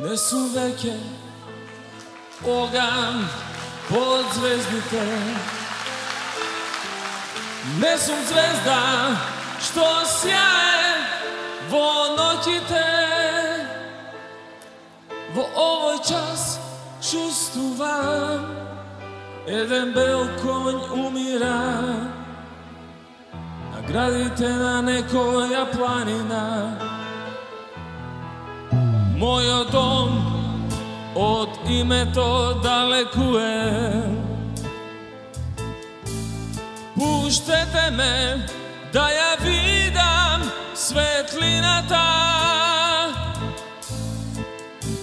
Не сум веќе оган под звездите. Не сум звезда што сјае во ноќите. Во овој час чувствувам еден бел конј умира на градите на некоја планина. Мојот дом од името далекуе. Пуштете ме да ја видам светлината.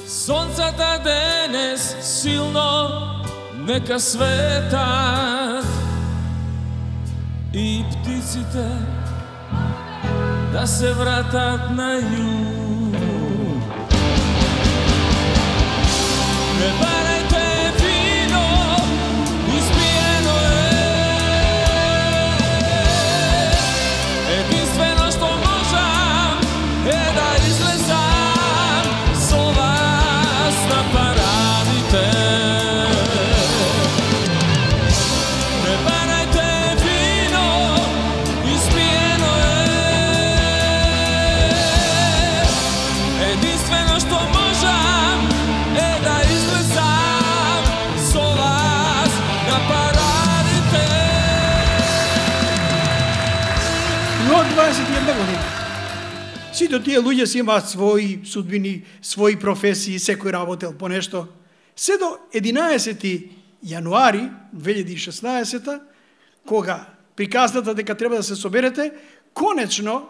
Сонцата денес силно нека светат и птиците да се вратат на југ. Не барајте вино, испиено единствено што можам е да излезам со вас на парадите. Не барајте вино, испиено единствено што можам е да излезам со вас на парадите. Но 21 година. Сите тие луѓе си имаат своји судбини, своји професии, секој работел по нешто. Се до 11 јануари 2016, кога приказната дека треба да се соберете, конечно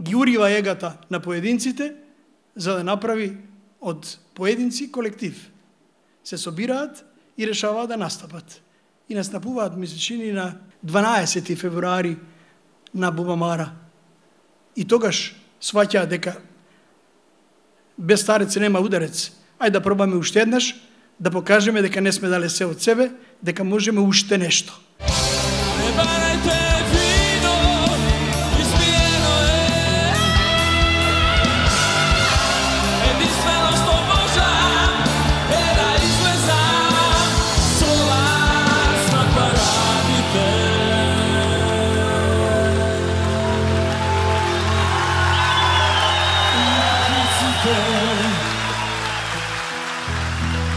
ги урива егата на поединците за да направи од поединци колектив. Се собираат и решаваат да настапат. И настапуваат месечини на 12 февруари на Бубамара. И тогаш сваќаат дека без старец нема ударец. Ајде да пробаме уште еднаш, да покажеме дека не сме дале се од себе, дека можеме уште нешто. Не барајте вино, испиено единствено што можам е да излезам со вас на парадите.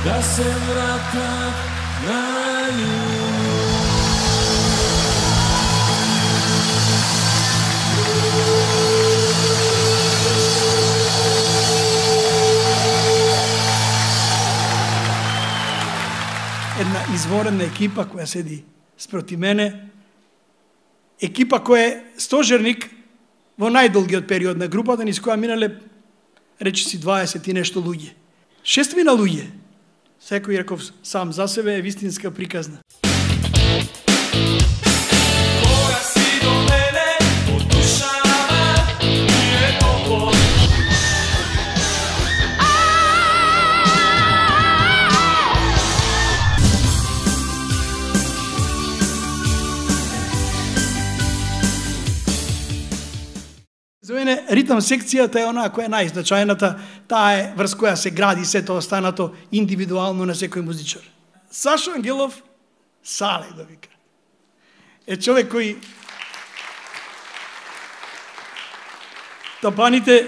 Да се вратат на југ. Една изворена екипа која седи спроти мене, екипа која е стожерник во најдолгиот период на групата, низ која минале, речиси 20 и нешто луѓе. 6 луѓе. Секој реков сам за себе е вистинска приказна. Кога си до мене, од душава ми е толку. За мене ритам секцијата е онаа која е најзначајната, таа е врз која се гради сето останато индивидуално на секој музичар. Сашо Ангелов, Сале да вика. Е човек кој тапаните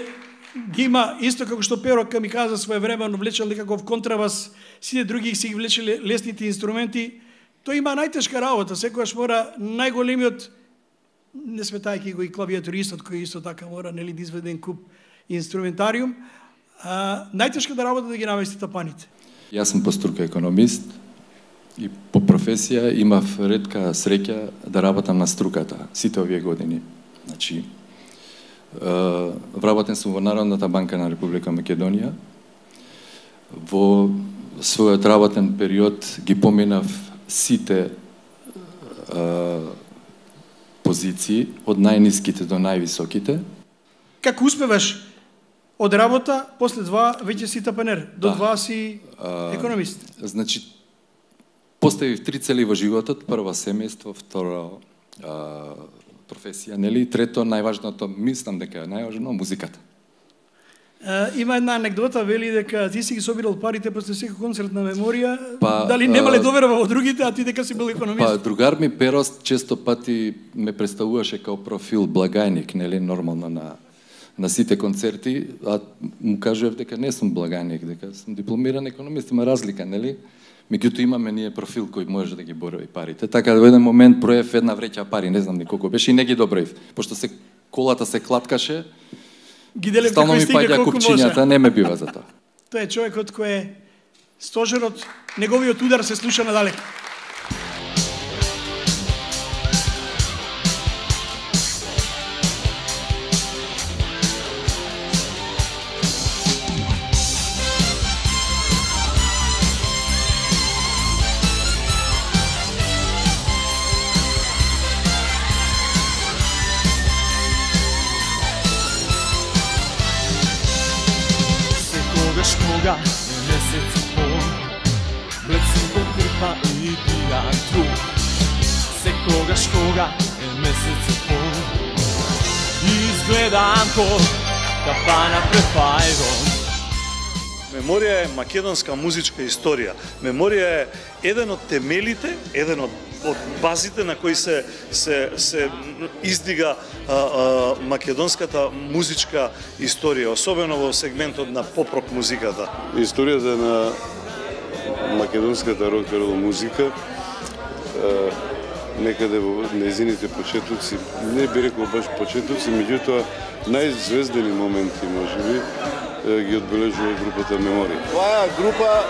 ги има исто како што Перо ми каза своевремено влечел некаков контрабас, сите други си ги влечеле лесните инструменти. Тој има најтешка работа, секогаш мора најголемиот, не сметајќи го и клавиатуристот кој исто така мора нели да изведе куп инструментариум, најтешката работа да ги намести тапаните. Јас сум по струка економист и по професија имав ретка среќа да работам на струката сите овие години. Значи, вработен сум во Народната банка на Република Македонија. Во својот работен период ги поминав сите позиции, од најниските до највисоките. Како успеваш од работа, после два веќе си тапанер, до два си економист? Значи, поставив 3 цели во животот: прво семејство, второ професија, нели, трето најважното, мислам дека е најважно, музиката. Има една анекдота, вели дека ти си ги собирал парите после секој концерт на Меморија, Па, дали немале доверба во другите, а ти дека си бил економист? Па, другар ми Перост често пати ме представуваше као профил благајник, нели, нормално на сите концерти, а му кажував дека не сум благајник, дека сум дипломиран економист, има разлика, нели? Меѓутоа имаме ние профил кој може да ги борови парите. Така во еден момент проев една вреќа пари, не знам ни колку беше и не ги доброив, пошто колата се клаткаше. Стално ми паѓа купчињата, не ме бива за тоа. Тоа е човекот кој е стожерот, неговиот удар се слуша надалеку. Кога месец и пол, блед символ крпа и пијан труп. Секогаш кога е месец и пол, изгледам ко кафана пред фајрон. Меморија е македонска музичка историја. Меморија е еден од темелите, еден од базите на кои се издига македонската музичка историја, особено во сегментот на поп-рок музиката. Историјата на македонската рок-н-рол музика некаде во незините почетоци, не би рекол баш почетоци, меѓутоа најзвездени моменти можеби ги одбележува групата Меморија. Оваа група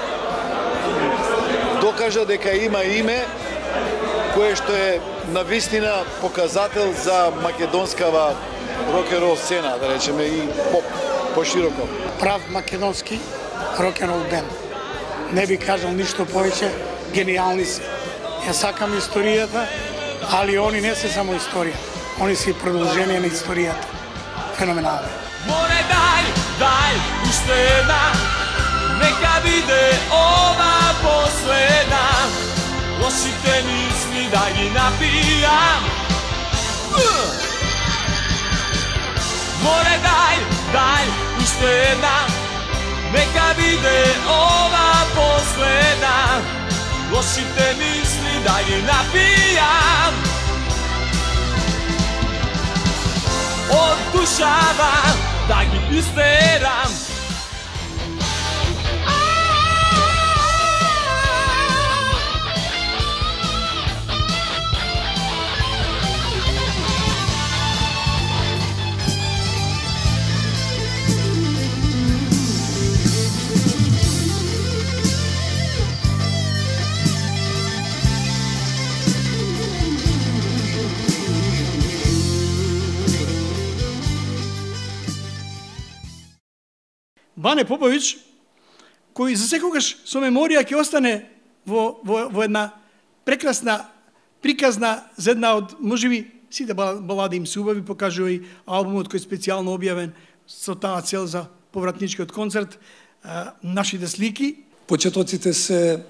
докажа дека има име кое што е навистина показател за македонскава рок-н-рол сцена, да речеме, и пошироко. Прав македонски рок-н-рол бенд. Не би кажал ништо повеќе, гениални се. Ја сакам историјата, али они не се само историја. Они се и продолжение на историјата. Феноменално. Море дај, уште една, нека биде ова последна. Лошите мисли да ги напијам. Море дај, уште една, нека биде ова последна. Лошите мисли да ги напијам. Од душава да ги истерам. Бане Попович, кој за секогаш со Меморија ќе остане во една прекрасна приказна за една од, можеби, сите балади им се убави, покажува и албумот кој е специјално објавен со таа цел за повратничкиот концерт, нашите слики. Почетоците се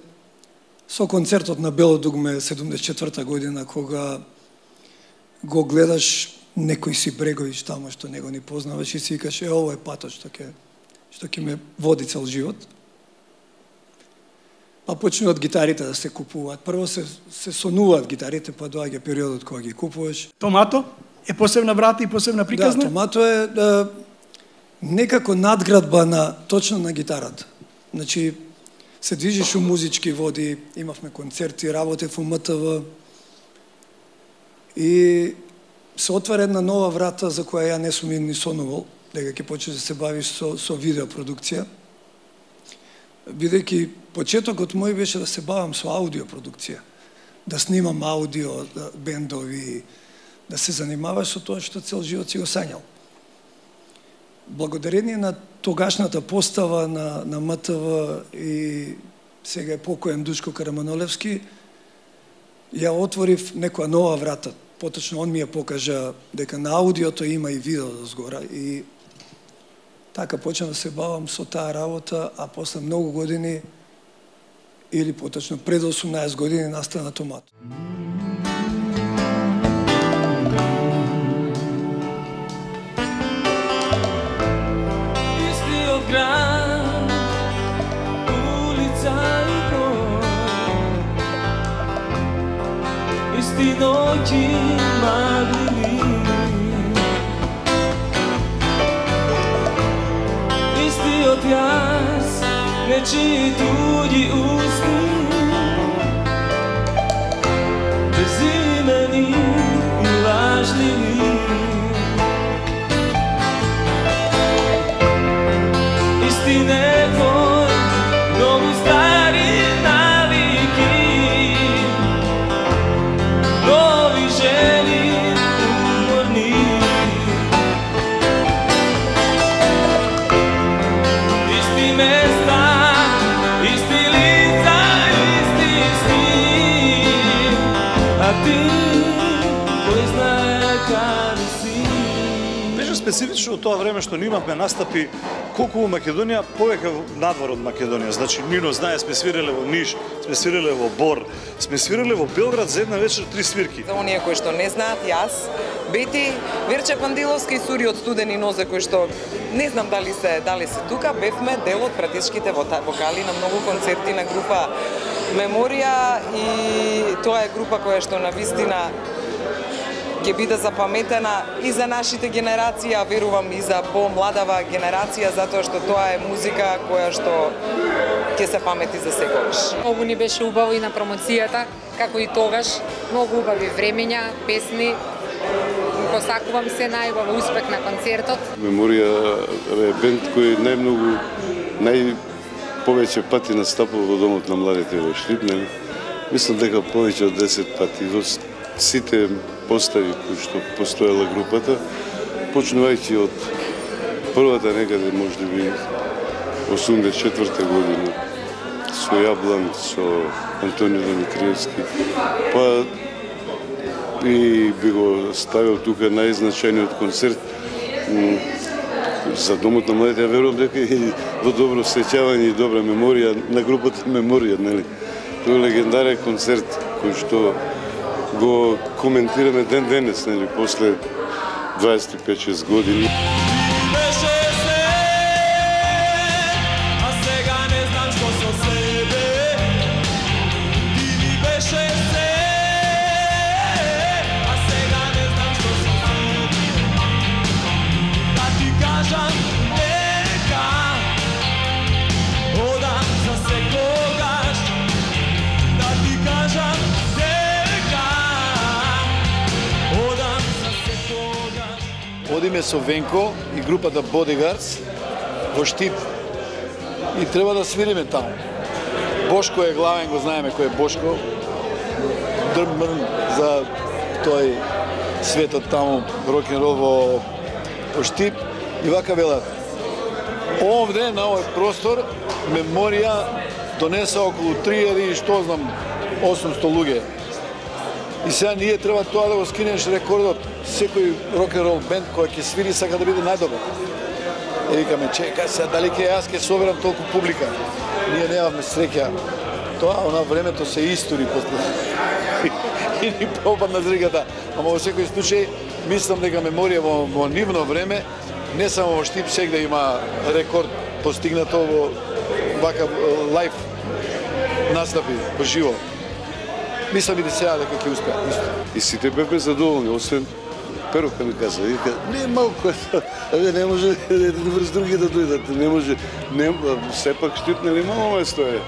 со концертот на Бело дугме 74 година, кога го гледаш некој си Бреговиќ тамо што него ни познаваш и си викаш, ово е патот што ќе ме води цел живот. Па почнуваат гитарите да се купуваат. Прво се сонуваат гитарите, па доаѓа периодот кога ги купуваш. Томато е посебна врата и посебна приказна? Да, Томато е некако надградба точно на гитарата. Значи, се движиш у музички води, имавме концерти, работев у МТВ и се отвара една нова врата за која ја не сум ни сонувал, дека ќе почне да се бавиш со видеопродукција. Бидејќи почетокот мој беше да се бавам со аудиопродукција, да снимам аудио, бендови, да се занимаваш со тоа што цел живот си го сањал. Благодарение на тогашната постава на МТВ и сега е покоен Душко Караманолевски, ја отворив некоја нова врата. Поточно он ми ја покажа дека на аудиото има и видео дозгора и така почнав да се бавам со таа работа, а после многу години, или поточно пред 18 години, настана Томато. Истина noći magli. Isti odjaz, nečiji tuđi usni, bezimeni i lažljivi. Isti nekoj, novi stari naviki, novi ženi umorni. Isti mesta, isti lica, isti sni, a ti koji znaje kada si. Беше специфично тоа време што ние имавме настапи колку во Македонија, повеќе надвор од Македонија. Значи, Нино знае, сме свиреле во Ниш, сме свиреле во Бор, сме свиреле во Белград за една вечер 3 свирки. За оние кои што не знаат, јас, Бети, Верче Пандиловски и Сури од Студени нозе, кои што не знам дали се тука, бевме дел од пратечките вокали на многу концерти на група Меморија, и тоа е група која што навистина ќе биде запаметена и за нашите генерации, а верувам и за помладава генерација, затоа што тоа е музика која што ќе се памети за секогаш. Многу ни беше убаво и на промоцијата, како и тогаш, многу убави времења, песни. Посакувам се најубав успех на концертот. Меморија е бенд кој најповеќе пати настапува во Домот на младите во Штип, нели? Мислам дека повеќе од 10 пати во сите постави кои што постоела групата, почнувајќи од првата некаде можеби 84-та година со Јаблан, со Антонио Димитриевски, па и би го ставил тука најзначајниот концерт за Домот на младите. Верувам дека и во добро сеќавање и добра меморија на групата Меморија, нели? Тој е легендарен концерт кој што го коментираме ден денес, нели, после 25-6 години. Одиме со Венко и групата Bodyguards во Штип и треба да свириме таму. Бошко е главен, го знаеме кој е Бошко. Дрмрн за тој светот таму, рок-н-рол во Штип. И вака велат, овде на овој простор Меморија донеса околу 3000 и што знам 800 луѓе. И сега ние треба тоа да го скинеш рекордот. Секој рок-н-рол бенд кој ќе свири сака да биде најдобар. И викаме, чека сега, дали ќе јас ќе соберам толку публика? Ние немавме среќа. Тоа, она времето се истори после. И ни пропадна зриката. Ама во секој случај, мислам дека Меморија во нивно време, не само во Штип, сегде има рекорд постигнато во вака лайф настапи, во живо. Мислам и да сега дека ќе успеа. И сите бевме задоволни, освен Перука ми каза, вика, не малку, не може врз други да дојдат, не може, сепак Штип, нели мало место е.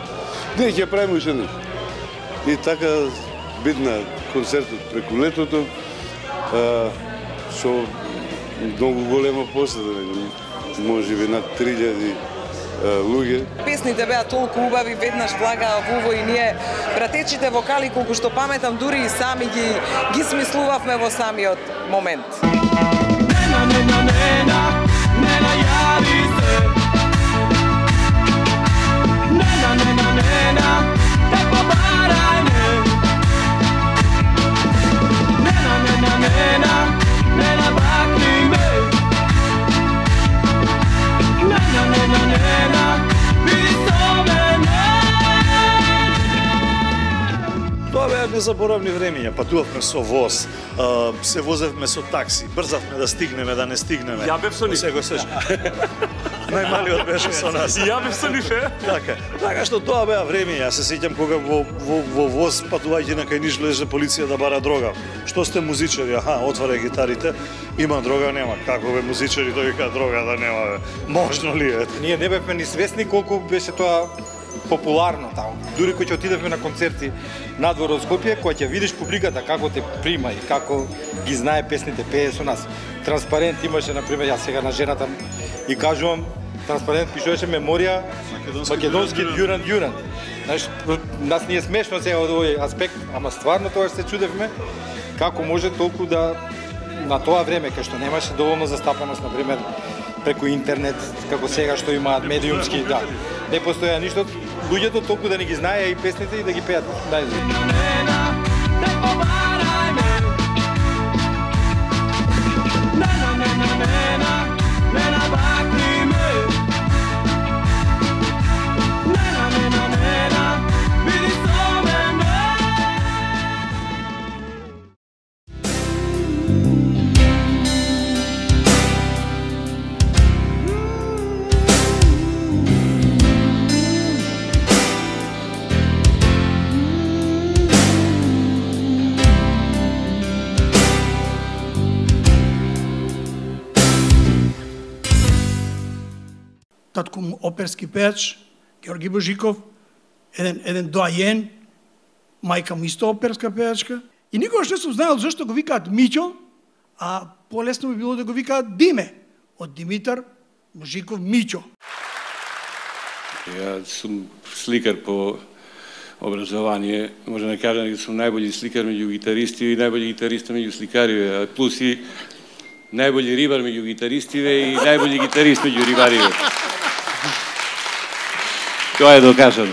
Не, ќе правиме уште нешто. И така бидна концертот преку летото, со многу голема посета, можеби над 3000 луѓе. Песните беа толку убави, веднаш влагаа во ово и ние пратечите вокали, колку што паметам, дури и сами ги смислувавме во самиот момент. Нена, нена, нена, нена, јави се. Нена, нена, нена, те побарај ме. Нена, нена, нена, нена, бакни ме. Нена, нена, нена, биди со мене. Тоа беа незаборавни времиња, патувавме со воз, се возевме со такси, брзавме да стигнеме, да не стигнеме. Ја бев со нив. Се го сеш. Најмалиот беше со нас. И ја бев со нив, Така што тоа беа времиња. Се сеќам кога во воз патувајќи на кај Ниш влезе полиција да бара дрога. Што сте музичари? Аха, отварај гитарите. Има дрога, нема. Како бе музичари, тој вика дрога да нема бе. Можно ли е? Ние не бевме ни свесни колку беше тоа популарно таму. Дури кога ќе отидевме на концерти надвор од Скопје, кога ќе видиш публиката како те прима и како ги знае песните, пее со нас. Транспарент имаше, например, јас сега на жената и кажувам, транспарент пишуваше меморија македонски Дюран. Знаеш, нас не е смешно сега од овој аспект, ама стварно тоа се чудевме како може толку да на тоа време кај што немаше доволно застапаност, например, преку интернет, како сега што имаат медиумски, да. Не постоја ништо, луѓето толку да не ги знаеа и песните и да ги пеат. Татко му оперски пеач, Георги Божиков, еден доајен, мајка му исто оперска пеачка. И никогаш не сум знаел зашто го викаат Миќо, а полесно би било да го викаат Диме, од Димитар Божиков Миќо. Ја сум сликар по образование, може да кажам дека сум најбољи сликар меѓу гитаристи и најбољи гитариста меѓу сликариве, плюс и најбољи рибар меѓу гитаристиве и најбољи гитарист меѓу рибариве. Тоа е докажано.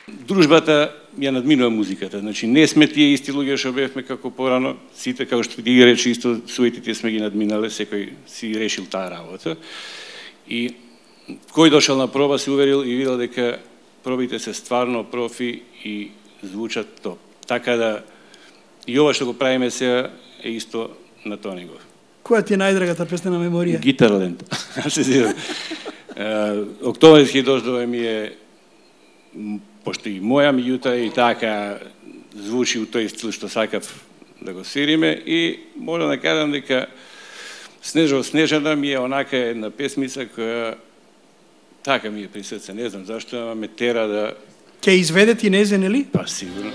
Дружбата ја надминува музиката, значи не сме тие исти луѓе што бевме како порано, сите како што ги рече исто суетите сме ги надминале, секој си решил таа работа. И кој дошол на проба се уверил и видел дека пробите се стварно профи и звучат топ. Така да и ова што го правиме сега е исто на тоа него. Која ти е најдрагата песна на меморија? Гитарленд. Се зирам. Октомврски дождове ми е пошто и моја, меѓутоа и така звучи у тој стил што сакав да го свириме и можам да кажам дека Снежо Снежана ми е онака една песмица која така ми е при срце, не знам зашто, ама ме тера да... Ке изведе ти незен, или? Па сигурно.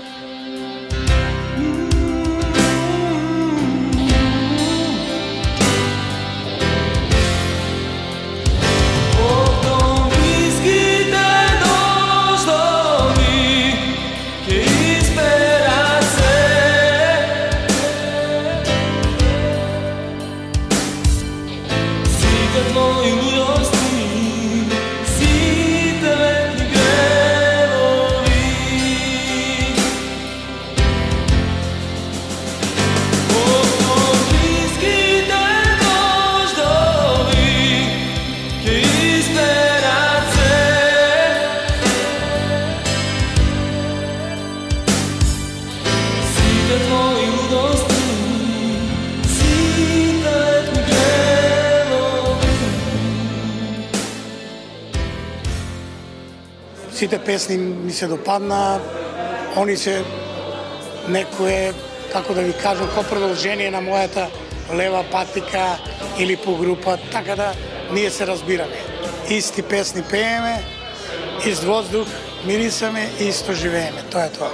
Сите песни ми се допадна, они се некое, како да ви кажам, ко продолжение на мојата лева патика или по група, така да ние се разбираме. Исти песни пееме, ист воздух мирисаме и исто живееме, тоа е тоа.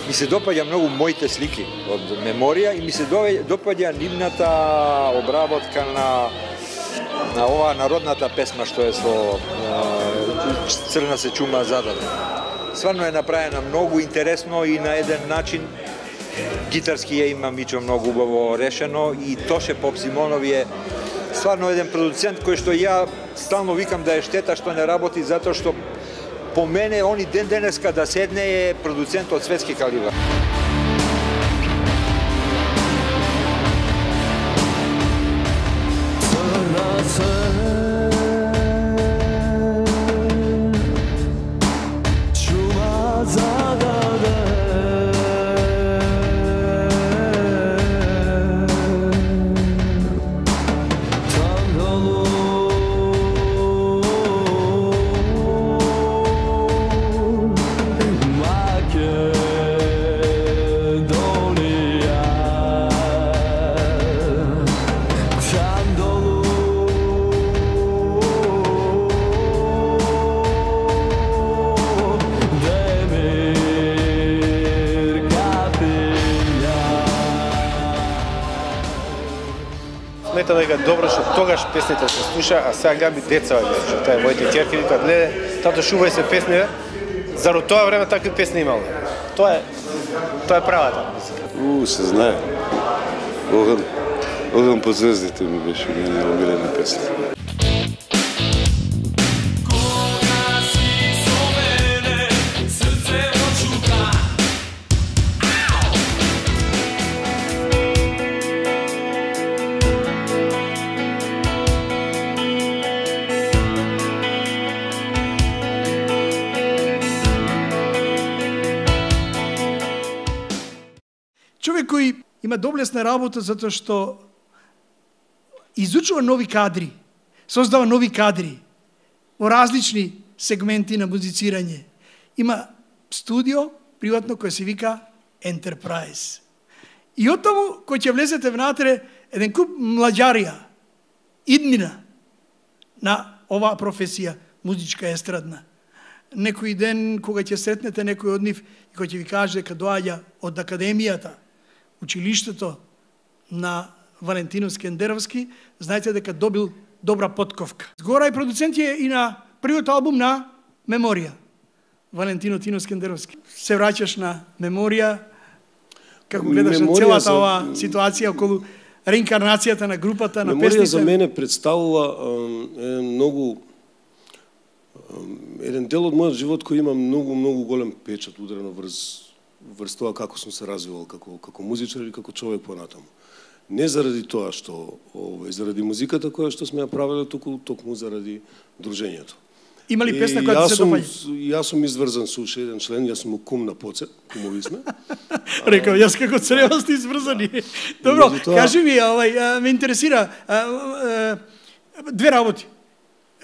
Ми се допаѓа многу моите слики од меморија и ми се допаѓа нивната обработка на ова народната песма што е со Црна се чума зададе. Стварно е направена многу интересно и на еден начин гитарски ја има Миќо многу убаво решено и Тоше Попсимонов е стварно еден продуцент кој што ја стално викам да е штета што не работи затоа што по мене они ден денеска да седне е продуцент од светски калибар. Čuma zadade долу. Сметам дека добро што тогаш песните се слуша, а сега би деца ги слуша. Тоа е моите ќерки викаат: "Леле, тато шувај се песни." Зарад тоа време такви песни имало. Тоа е правата музика. Се знае. Оган по звездите ми беше мене омилена песна. Човек кој има доблесна работа затоа што изучува нови кадри, создава нови кадри во различни сегменти на музицирање. Има студио приватно кој се вика Enterprise. И од таму кој ќе влезете внатре еден куп младјарија, иднина на оваа професија музичка естрадна. Некој ден кога ќе сретнете некој од нив и кој ќе ви каже дека доаѓа од академијата, училиштето на Валентино Скендеровски, знаете дека добил добра подковка. Згора и продуцент е и на првиот албум на Меморија. Валентино Тино Скендеровски. Се враќаш на Меморија, како гледаш на целата оваа ситуација околу реинкарнацијата на групата, на песните? Меморија за мене представува еден дел од мојот живот кој има многу голем печат ударено врз тоа како сум се развивал како музичар или како човек понатаму. Не заради тоа што заради музиката која што сме ја правеле, токму заради дружењето. Има ли песна која ти се допаѓа? Јас сум изврзан со уште еден член, јас сум кум на Поцеп, кумови сме. Рекав, јас како црева сте изврзани. Добро, кажи ми, ме интересира две работи.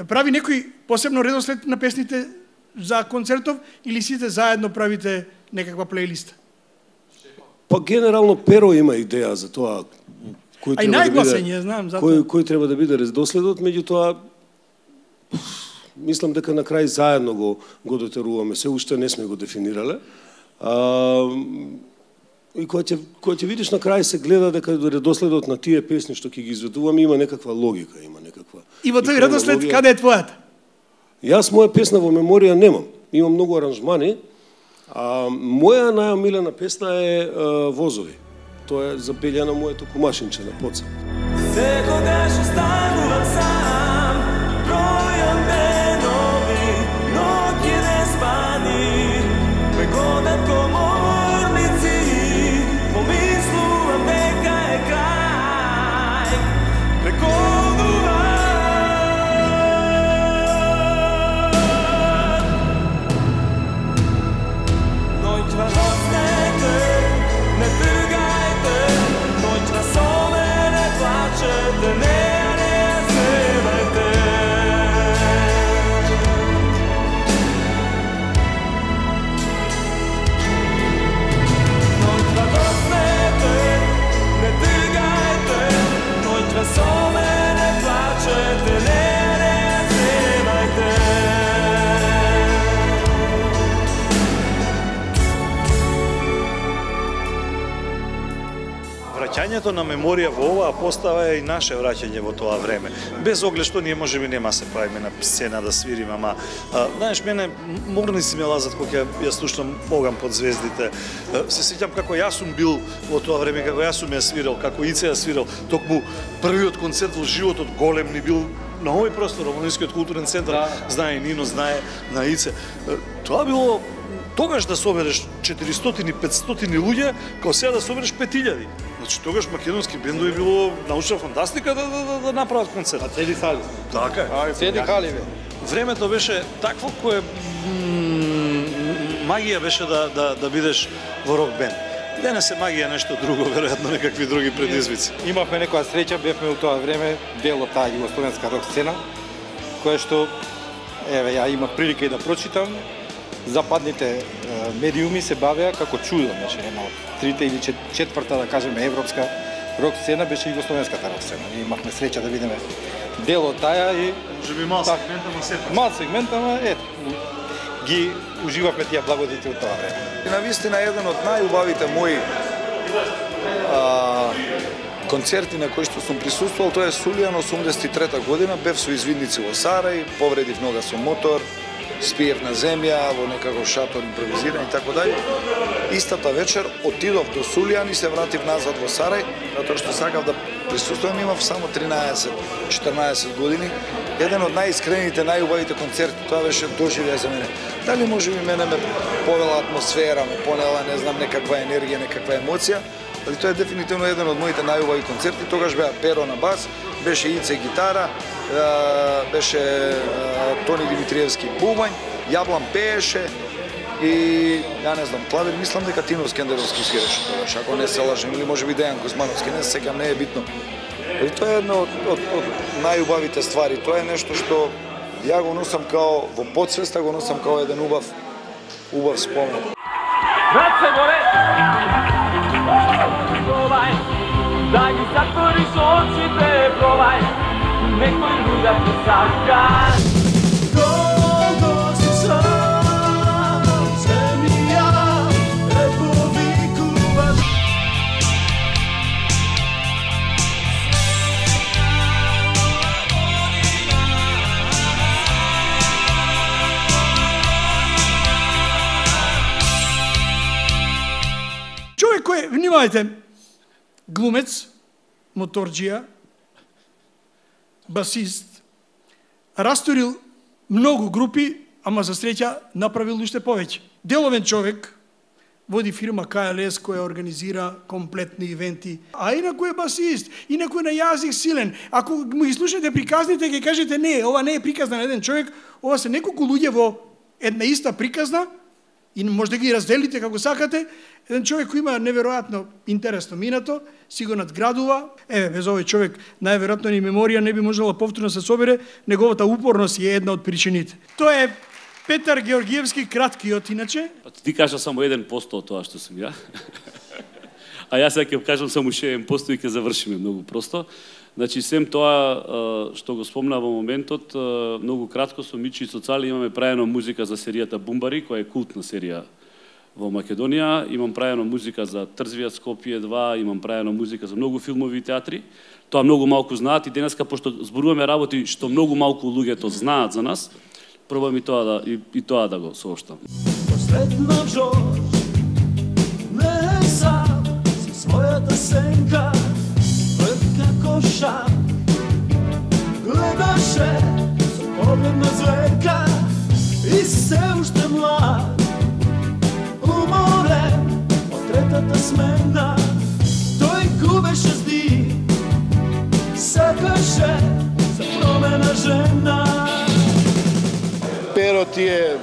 Прави некој посебно редослед на песните за концертов или сите заедно правите некаква плейлиста? Па генерално Перо има идеја за тоа кој треба да биде редоследот, меѓутоа мислам дека на крај заедно го дотеруваме, се уште не сме го дефинирале. И кога ќе видиш на крај се гледа дека редоследот на тие песни што ќе ги изведуваме има некаква логика, има некаква. И во тој редослед каде е твојата? Јас моја песна во Меморија немам. Имам многу аранжмани. Моја најомилена песна е Возови. Тоа е забелјана моето кумашинче на Поцеп. Секогаш останувам сам, бројам денови, ноќи не спани, ме годат коморници, помислувам дека е крај, преколнувам. Ноќва носнете, не тргајте, ноќва со мене плачете, не земајте. Ноќва носнете, не тргајте, ноќва со мене плачете, не земајте. Враќањето на Меморија во оваа постава е и наше враќање во тоа време. Без оглед што ние можеби нема се правиме на сцена да свириме, ама знаеш, мене морници ме лазат кога ја слушам Оган под звездите. Се сеќам како јас сум бил во тоа време, како јас сум ја свирал, како Ице ја свирал. Токму првиот концерт во животот голем ни бил на овој простор, во Омладинскиот културен центар. Знае Нино, знае на Ице. Тоа било тогаш да собереш 400-500 луѓе, као сега да собереш 5000. Значи тогаш македонски бендови било научна фантастика да направат концерт. А цели сали. Така е. Цели хали бе. Времето беше такво кое магија беше да бидеш во рок бенд. Денес е магија нешто друго, веројатно некакви други предизвици. Имавме некоја среќа, бевме у тоа време дел од таа југословенска рок сцена, која што ја имав прилика и да прочитам. Западните медиуми се бавеа како чудо, значи една од трите или четврта, да кажеме, европска рок сцена беше југословенската рок сцена. Ние имавме среќа да видиме дел од таа и може би мал сегмент, ама сепак. Мал сегмент, ама ги уживавме тие благодети од тоа време. И навистина еден од најубавите мои концерти на кои што сум присуствувал, тоа е Сулијан 83 година, бев со извидници во Сарај, повредив нога со мотор, спиев на земја, во некако шатор импровизиран и така дај. Истата вечер отидов до Сулијан и се вратив назад во Сарај, затоа што сакав да присуствувам, имав само 13-14 години. Еден од најискрените, најубавите концерти, тоа беше доживеа за мене. Дали може би мене ме повела атмосфера, ме понела, не знам, некаква енергија, некаква емоција, али тоа е дефинитивно еден од моите најубави концерти. Тогаш беа Перо на бас, беше Ице гитара, беше Тони Димитриевски бубањ, Јаблан пееше и ја не знам, клавир, мислам дека Тино Скендеровски свиреше тогаш, ако не се лажем, или може би Дејан Кузмановски, не се сеќам, не е битно. И тоа е едно од најубавите ствари, тоа е нешто што ја го носам као во подсвеста, го носам као еден убав спомен. Раце горе! Пробај, да ги затвориш очите, пробај, некој друга те сака. Колко си сам, земја, те повикуваш. Човек кој, внимавајте, глумец, моторџија, басист, расторил многу групи, ама за среќа направил уште повеќе. Деловен човек, води фирма КЛС која организира комплетни ивенти, а инаку е басист, инаку е на јазик силен. Ако му ги слушате приказните, ќе кажете не, ова не е приказна на еден човек, ова се неколку луѓе во една иста приказна, и може да ги разделите како сакате. Еден човек кој има неверојатно интересно минато, си го надградува. Без овој човек најверојатно ни меморија не би можела повторно се собере, неговата упорност е една од причините. Тоа е Петар Георгиевски, краткиот иначе. Ти кажа само 1% од тоа што сум ја. А јас ќе кажам само 1% и ќе завршиме многу просто. Значи, сем тоа што го спомна во моментот, многу кратко со Мичи и Соцали имаме праено музика за серијата Бумбари, која е култна серија во Македонија. Имам праено музика за Трзвијат Скопје 2, имам праено музика за многу филмови и театри. Тоа многу малку знаат и денеска, пошто зборуваме работи што многу малку луѓето знаат за нас, пробам и тоа да го сооштам. Последна Жорж, не е сам, со својата сенка, како шар, гледаше со поглед на зверка и се уште млад, уморен од третата смена, тој губеше здив, сакаше за промена жена. Перо ти е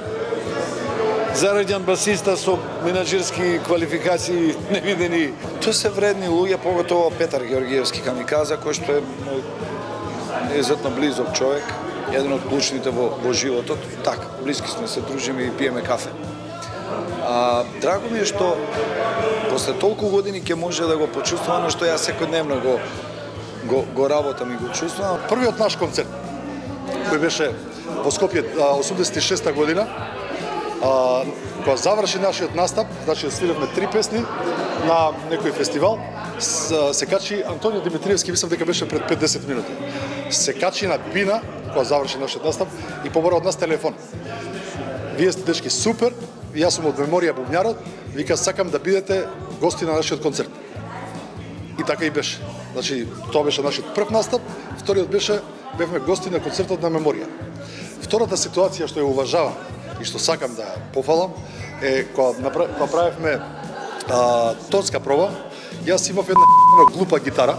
зараѓан басиста со менаџерски квалификации невидени. Тоа се вредни луѓе, поготово Петар Георгиевски камиказа, кој што е неизвестно близок човек, еден од клучните во животот. Така, блиски сме, се дружиме и пиеме кафе. Драго ми е што после толку години ќе може да го почувствувам, што јас секојдневно го работам и го чувствувам. Првиот наш концерт, кој беше во Скопје 86 година, кога заврши нашиот настап, значи свиревме 3 песни на некој фестивал, се качи Антонио Димитриевски, мислам дека беше пред 50 минути. Се качи на бина, кога заврши нашиот настап, и побара од нас телефон. Вие сте дечки супер, јас сум од меморија бубњарот, вика сакам да бидете гости на нашиот концерт. И така и беше. Значи, тоа беше нашиот прв настап, вториот бевме гости на концертот на меморија. Втората ситуација што ја уважавам и што сакам да пофалам е кога правевме тонска проба, јас имав една глупа гитара,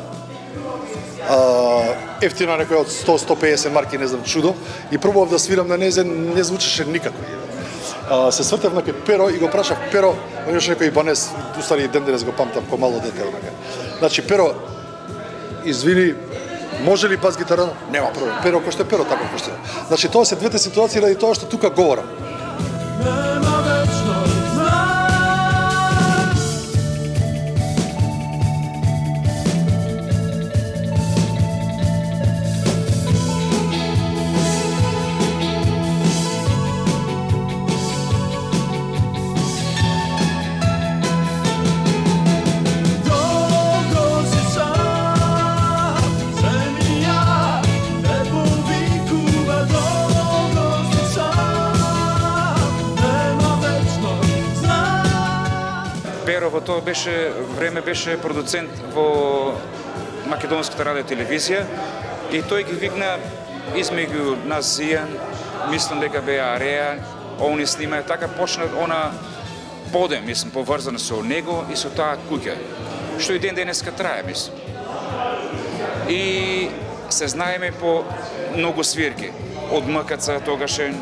ефтина некоја од 100-150 марки, не знам, чудо, и пробував да свирам на незе, не звучеше никако. Се свртев на Перо и го прашав Перо, он беше некој Ибанес, устари ден денес го памтам ко мало дете. Значи, Перо, извини, може ли бас гитара? Нема проблем. Перо кој што е Перо, така кој што е. Значи, тоа се двете ситуации ради тоа што тука говорам. во тоа време беше продуцент во Македонската радио телевизија и тој ги викна измеѓу нас Зијан, мислам дека беа Ареа, они снимаја, така почна она подем, мислам, поврзана со него и со таа куќа, што и ден денеска трае, мислам. И се знаеме по многу свирки, од МКЦ тогашен,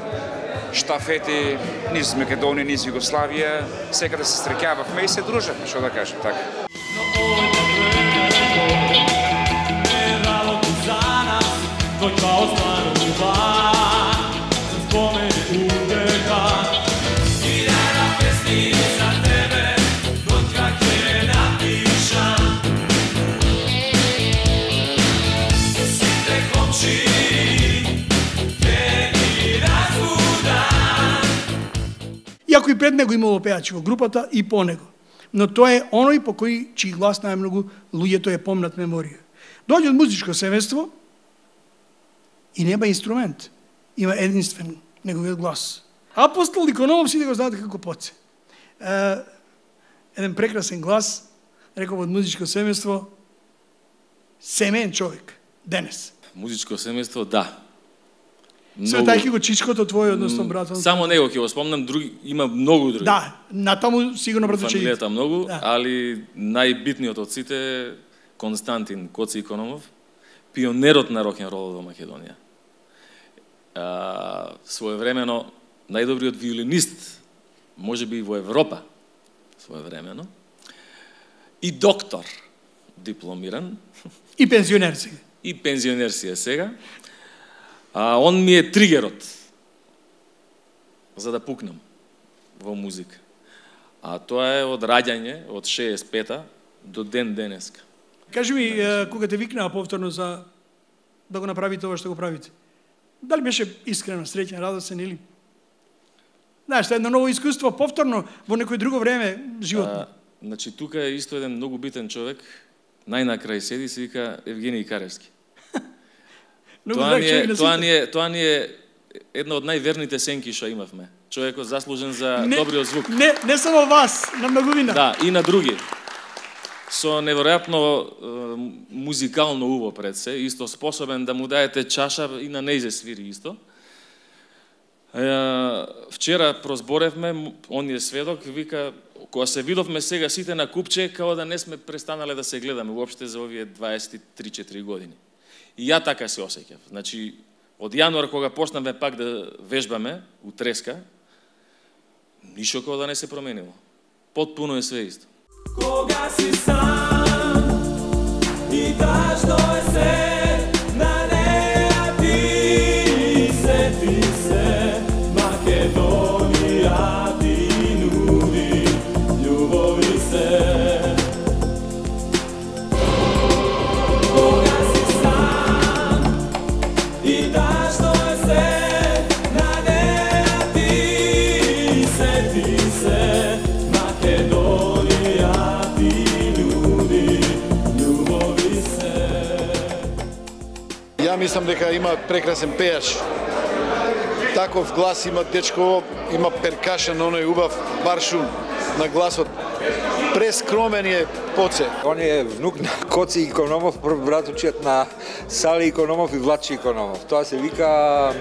штафети, низ Македонија, низ Југославија, секаде се среќававме и се дружевме, што да кажем, така. Иако и пред него имало пеачи во групата и по него. Но тоа е оној по кој чиј глас најмногу луѓето е помнат меморија. Доаѓа од музичко семејство и нема инструмент. Има единствен неговиот глас. Апостол Икономов сите го знаат како Поце. Еден прекрасен глас, реков од музичко семејство, семеен човек, денес. Музичко семејство, да. Светајки го чичкото твој, односно братот. Само него ќе го спомнам, други има многу други. Да, натаму сигурно братот ќе фамилијата многу, да. Али најбитниот од сите Константин Коци Икономов, пионерот на рок-н-ролот во Македонија. Своевремено најдобриот виолинист, можеби во Европа, своевремено. И доктор, дипломиран. И пензионер сега. И пензионер си е сега. Он ми е тригерот за да пукнам во музика. Тоа е од раѓање, од 65-та до ден денеска. Кажи ми, кога те викнаа повторно за да го направите ова што го правите, дали беше искрено, среќен, радосен или? Знаеш, едно ново искуство, повторно, во некој друго време, животно. Значи, тука е исто еден многу битен човек, најнакрај седи, се вика Евгений Каревски. Тоа ни е една од најверните сенки што имавме. Човекот заслужен за добриот звук. Не само вас, на многувина. Да, и на други. Со неверојатно музикално уво пред се, исто способен да му даете чаша и на нејзе свири исто. Вчера прозборевме, он е сведок, вика, кога се видовме сега сите на купче, као да не сме престанале да се гледаме уопште за овие 23-4 години. И ја така се осеќав. Значи, од јануар кога почнавме пак да вежбаме у треска, ништо кога да не се променило. Потпуно е све исто. Кога си сам и тажно е се на неа ти се Македонија ти нуди љубови се. Кога си сам и тажно е се на неа ти се Македонија ти нуди љубови се. Ја мислам дека има прекрасен пејач. Таков глас има дечко, има перкашен, оној убав баршун на гласот. Прескромен е Поце. Он е внук на Коци Икономов, братучиот на Сали Икономов и Влачи Икономов. Тоа се вика,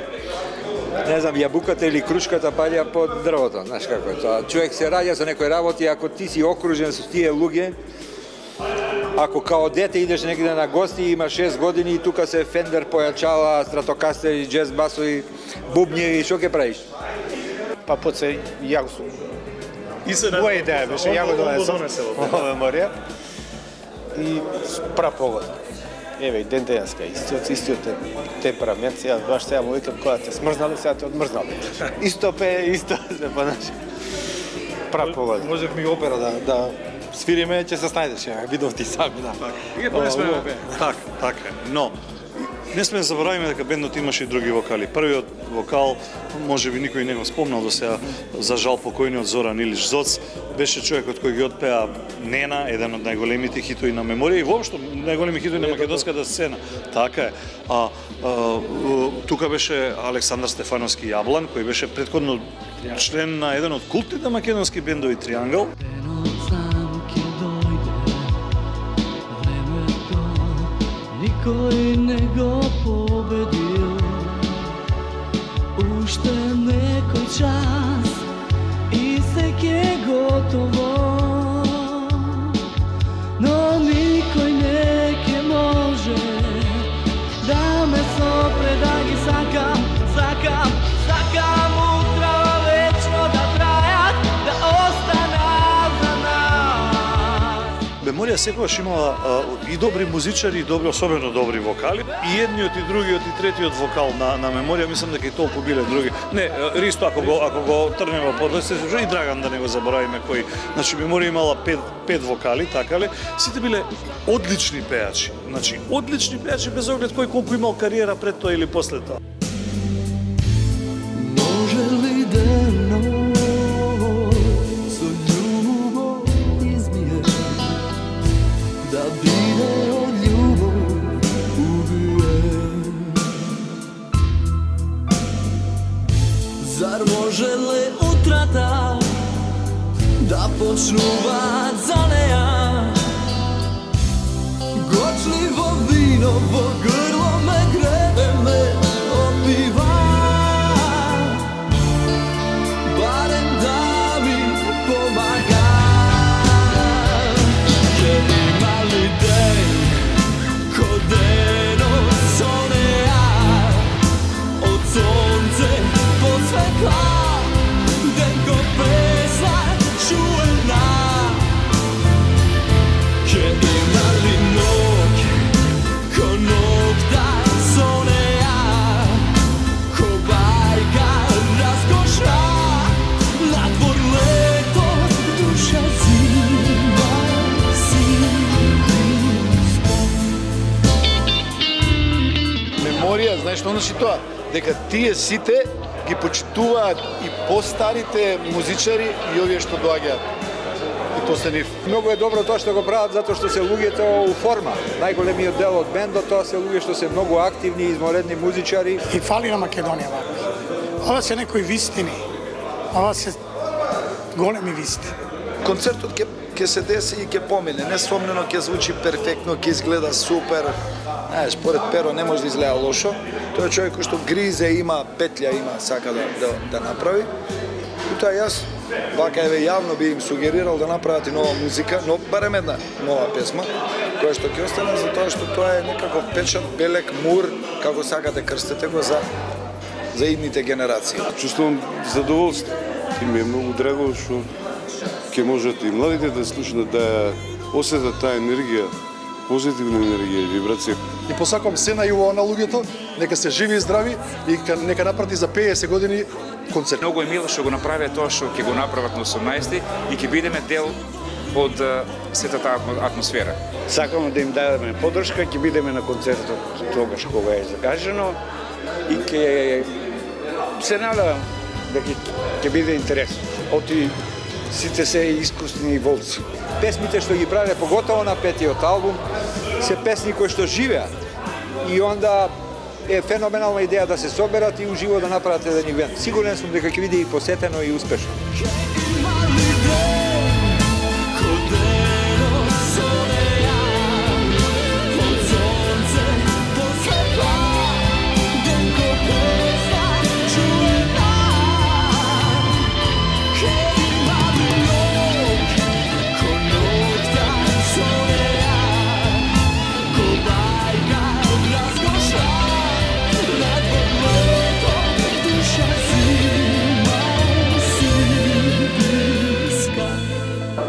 не знам, јабуката или крушката паѓа под дрвото, знаеш како е тоа. Човек се раѓа со некој работи, ако ти си окружен со тие луѓе, ако као дете идеш негде на гости, има 6 години и тука се Фендер, појачала, стратокастери, джез басови, бубњи, што ќе правиш? Па Поце, ја го сум. Моја идеја беше, ја го донесам во меморија. И прав поглед. Еве, ден денеска, истиот темперамент, сега баш сега му викам кога те смрзнали, сега те одмрзнали. Исто пее, исто се понаши. Прав поглед. Можев ми опера да свириме, ќе се снајдеш, видов ти сами, да. Така, но не сме да заборавиме дека бендот имаше и други вокали. Првиот вокал, може би никој не го спомнал до сега, за жал покојниот Зоран Илич Зоц, беше човекот кој ги отпеа Нена, еден од најголемите хитови на меморија и воопшто најголеми хитови на македонската сцена. Така е. Тука беше Александар Стефановски Јаблан, кој беше претходно член на еден од култните македонски бендови Триангл. никој не го победил. Уште некој час и се ке готово, но никој не ке може да ме сопре, да ги сакам, сакам, сакам утра вечно да трајат, да останат за нас. Меморија секогаш имала и добри музичари, и добри, особено добри вокали. И едниот, и другиот, и третиот вокал на Меморија, мислам дека и толку биле други. Не, Ристо, ако го трнева подлесе, и Драган, да не го заборавиме кој. Значи, Меморија имала пет вокали, така ли? Сите биле одлични пејачи. Значи, одлични пејачи без оглед кој колку имал кариера пред тоа или после тоа. Може ли дено со љубов измие, да биде од љубов убиен? Зар може ли утрата да почнуваат за неа? Гочливо вино во грло ме гребе, ме опива. Барем да ми помага. Ке има ли ден, ко дено со неа, од сонце по светла, ден ко песна чуена. Ке има ли ноќ, ко ноќта со неа, ко бајка раскошна, надвор лето, душа зима си близко. Меморија, знаеш што значи тоа? Дека тие сите ги почитуваат и постарите музичари и овие што доаѓаат. И после нив. Многу е добро тоа што го прават затоа што се луѓето у форма. Најголемиот дел од бендот тоа се луѓе што се многу активни, изморедни музичари. И фали на Македонија вака. Ова се некои вистини. Ова се големи вистини. Концертот ќе се деси и ќе помине. Несомнено ќе звучи перфектно, ќе изгледа супер. Знаеш, според Перо не може да изгледа лошо. Тој е човек кој што гризе, има петља, има сака да направи. И тоа јас вака еве јавно би им сугерирал да направат и нова музика, но барем една нова песма, која што ќе остане затоа што тоа е некаков печат, белек, мур, како сакате крстете го за идните генерации. Чувствувам задоволство и ми е многу драго што ќе можат и младите да слушнат, да осетат таа енергија, позитивна енергија и вибрација. И посакам се најубаво на луѓето, нека се живи и здрави и нека напрати за 50 години концерт. Многу е мило што го направија тоа што ќе го направат на 18 и ќе бидеме дел од сета таа атмосфера. Сакаме да им дадеме поддршка, ќе бидеме на концертот тогаш кога е закажано и ќе се надевам дека ќе биде интересно. Оти сите се искусни волци. Песмите што ги правеле, поготово на петиот албум, се песни кои што живеат. И онда е феноменална идеја да се соберат и уживо да направат еден ивент. Сигурен сум дека ќе биде и посетено и успешно.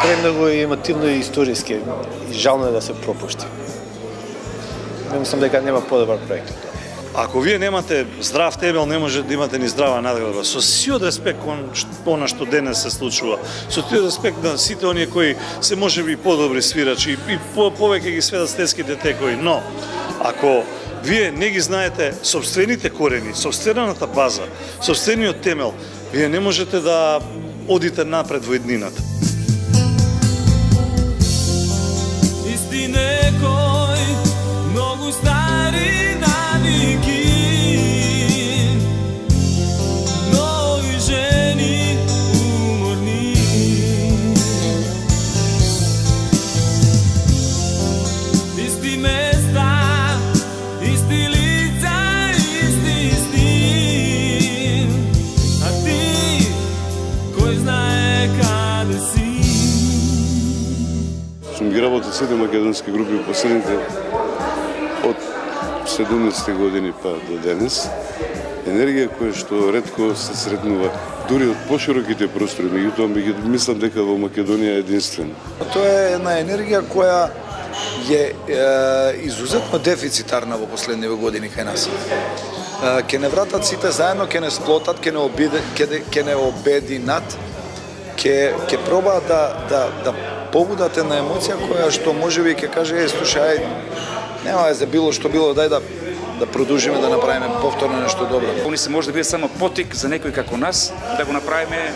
Премногу емотивно и историски и жално е да се пропушти. Мислам дека нема подобар проект. Ако вие немате здрав темел, не може да имате ни здрава надградба. Со сиот респект кон она што денес се случува, со сиот респект на сите оние кои се можеби подобри свирачи и повеќе ги сведат стенските текови, но ако вие не ги знаете собствените корени, собствената база, собствениот темел, вие не можете да одите напред во иднината. Исти некој многу стари навики, нови жени уморни. Исти места сите македонски групи последните од 70 години па до денес. Енергија која што ретко се сретнува дури од пошироките простори, меѓутоа мислам дека во Македонија е единствено. Тоа е една енергија која е изузетно дефицитарна во последниве години кај нас. Ке не вратат сите заедно, ке не сплотат, ке не обединат, ке пробаат да побудат една емоција која што можеби ќе каже слушај, нема за било што било, дај да продолжиме да направиме повторно нешто добро. Они се може да биде само потик за некој како нас да го направиме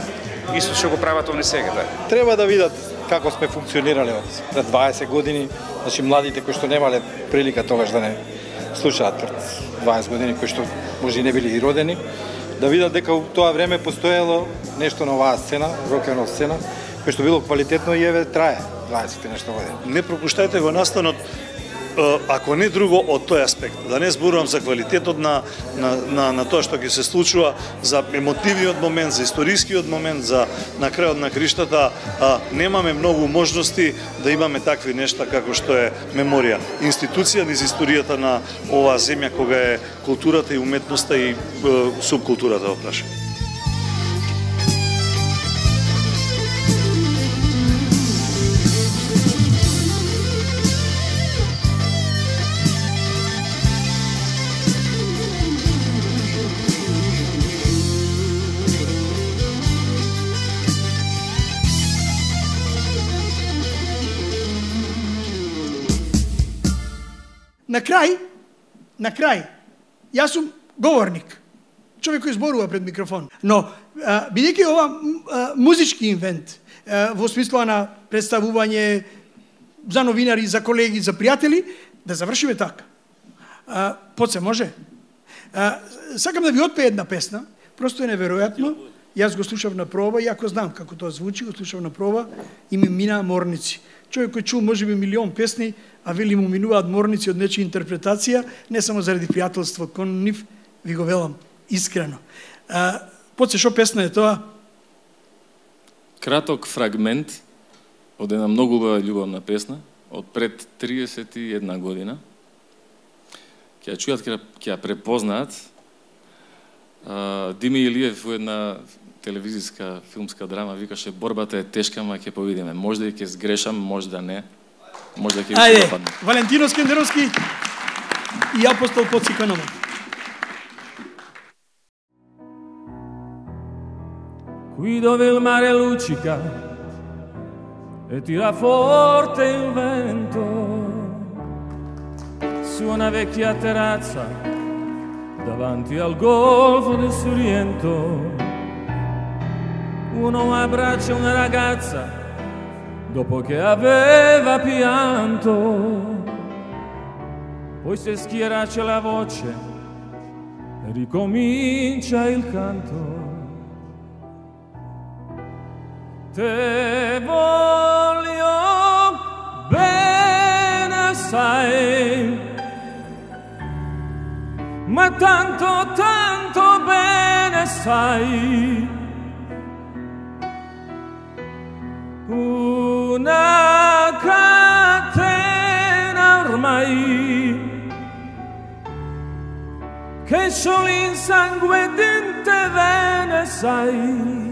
исто што го прават они сега. Треба да видат како сме функционирале од пред 20 години, значи младите кои што немале прилика тогаш да не слушаат пред 20 години, кои што може и не били и родени, да видат дека во тоа време постоело нешто на оваа сцена, рок-н-рол сцена, кој што било квалитетно и еве трае 20 нешто години. Не пропуштајте го настанот, ако не друго од тој аспект. Да не зборувам за квалитетот на тоа што ќе се случува, за емотивниот момент, за историскиот момент, за на крајот на криштата, немаме многу можности да имаме такви нешта како што е меморија. Институција низ историјата на оваа земја кога е културата и уметноста и субкултурата во прашање. На крај, јас сум говорник, човек кој зборува пред микрофон, но бидејќи ова музички инвент, во смисла на представување за новинари, за колеги, за пријатели, да завршиме така. Поце може? Сакам да ви отпее една песна, просто е неверојатно. Јас го слушав на проба, и ако знам како тоа звучи, го слушав на проба и ми минаа морници. Човек кој чул можеби милион песни, а вели му минуваат морници од нечија интерпретација, не само заради пријателство кон нив, ви го велам искрено. Поце, шо песна е тоа? Краток фрагмент од една многу убава љубовна песна од пред 31 година. Ќе ја чујат, ќе ја препознаат. Дими Илиев во една телевизиска филмска драма викаше борбата е тешка, ама ќе повидиме. Може да ќе сгрешам, може да не. Може да ќе ви се допадне. Валентино Скендеровски и Апостол Поциканова. Qui dove il mare luccica e tira forte il vento su una vecchia terrazza davanti al golfo del Sorrento uno abbraccia una ragazza dopo che aveva pianto poi se schierace la voce e ricomincia il canto. Te voglio bene, sai, ma tanto, tanto bene, sai, una catena ormai che solo in sangue di te vene, sai.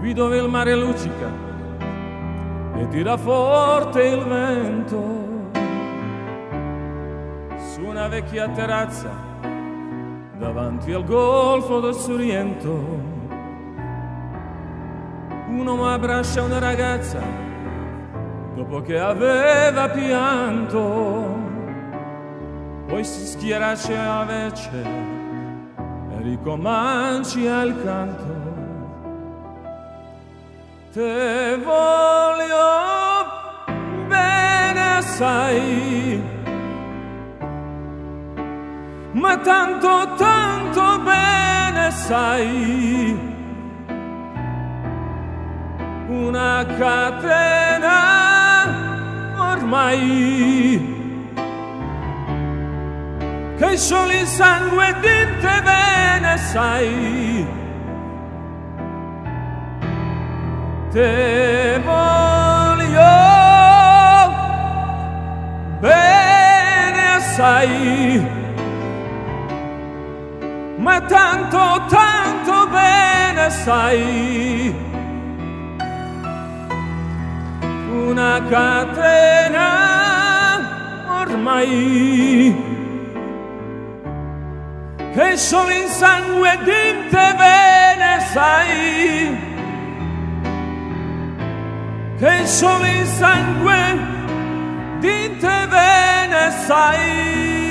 Qui dove il mare luccica e tira forte il vento su una vecchia terrazza davanti al golfo del Sorrento un uomo abbraccia una ragazza dopo che aveva pianto poi si schierace la vece e ricomincia il canto. Te voglio bene, sai, ma tanto, tanto bene, sai, una catena ormai che solo il sangue di te bene sai, te voglio bene assai, ma tanto, tanto bene sai, una catena ormai, che solo in sangue di te bene sai, che solo in sangue di te bene sai.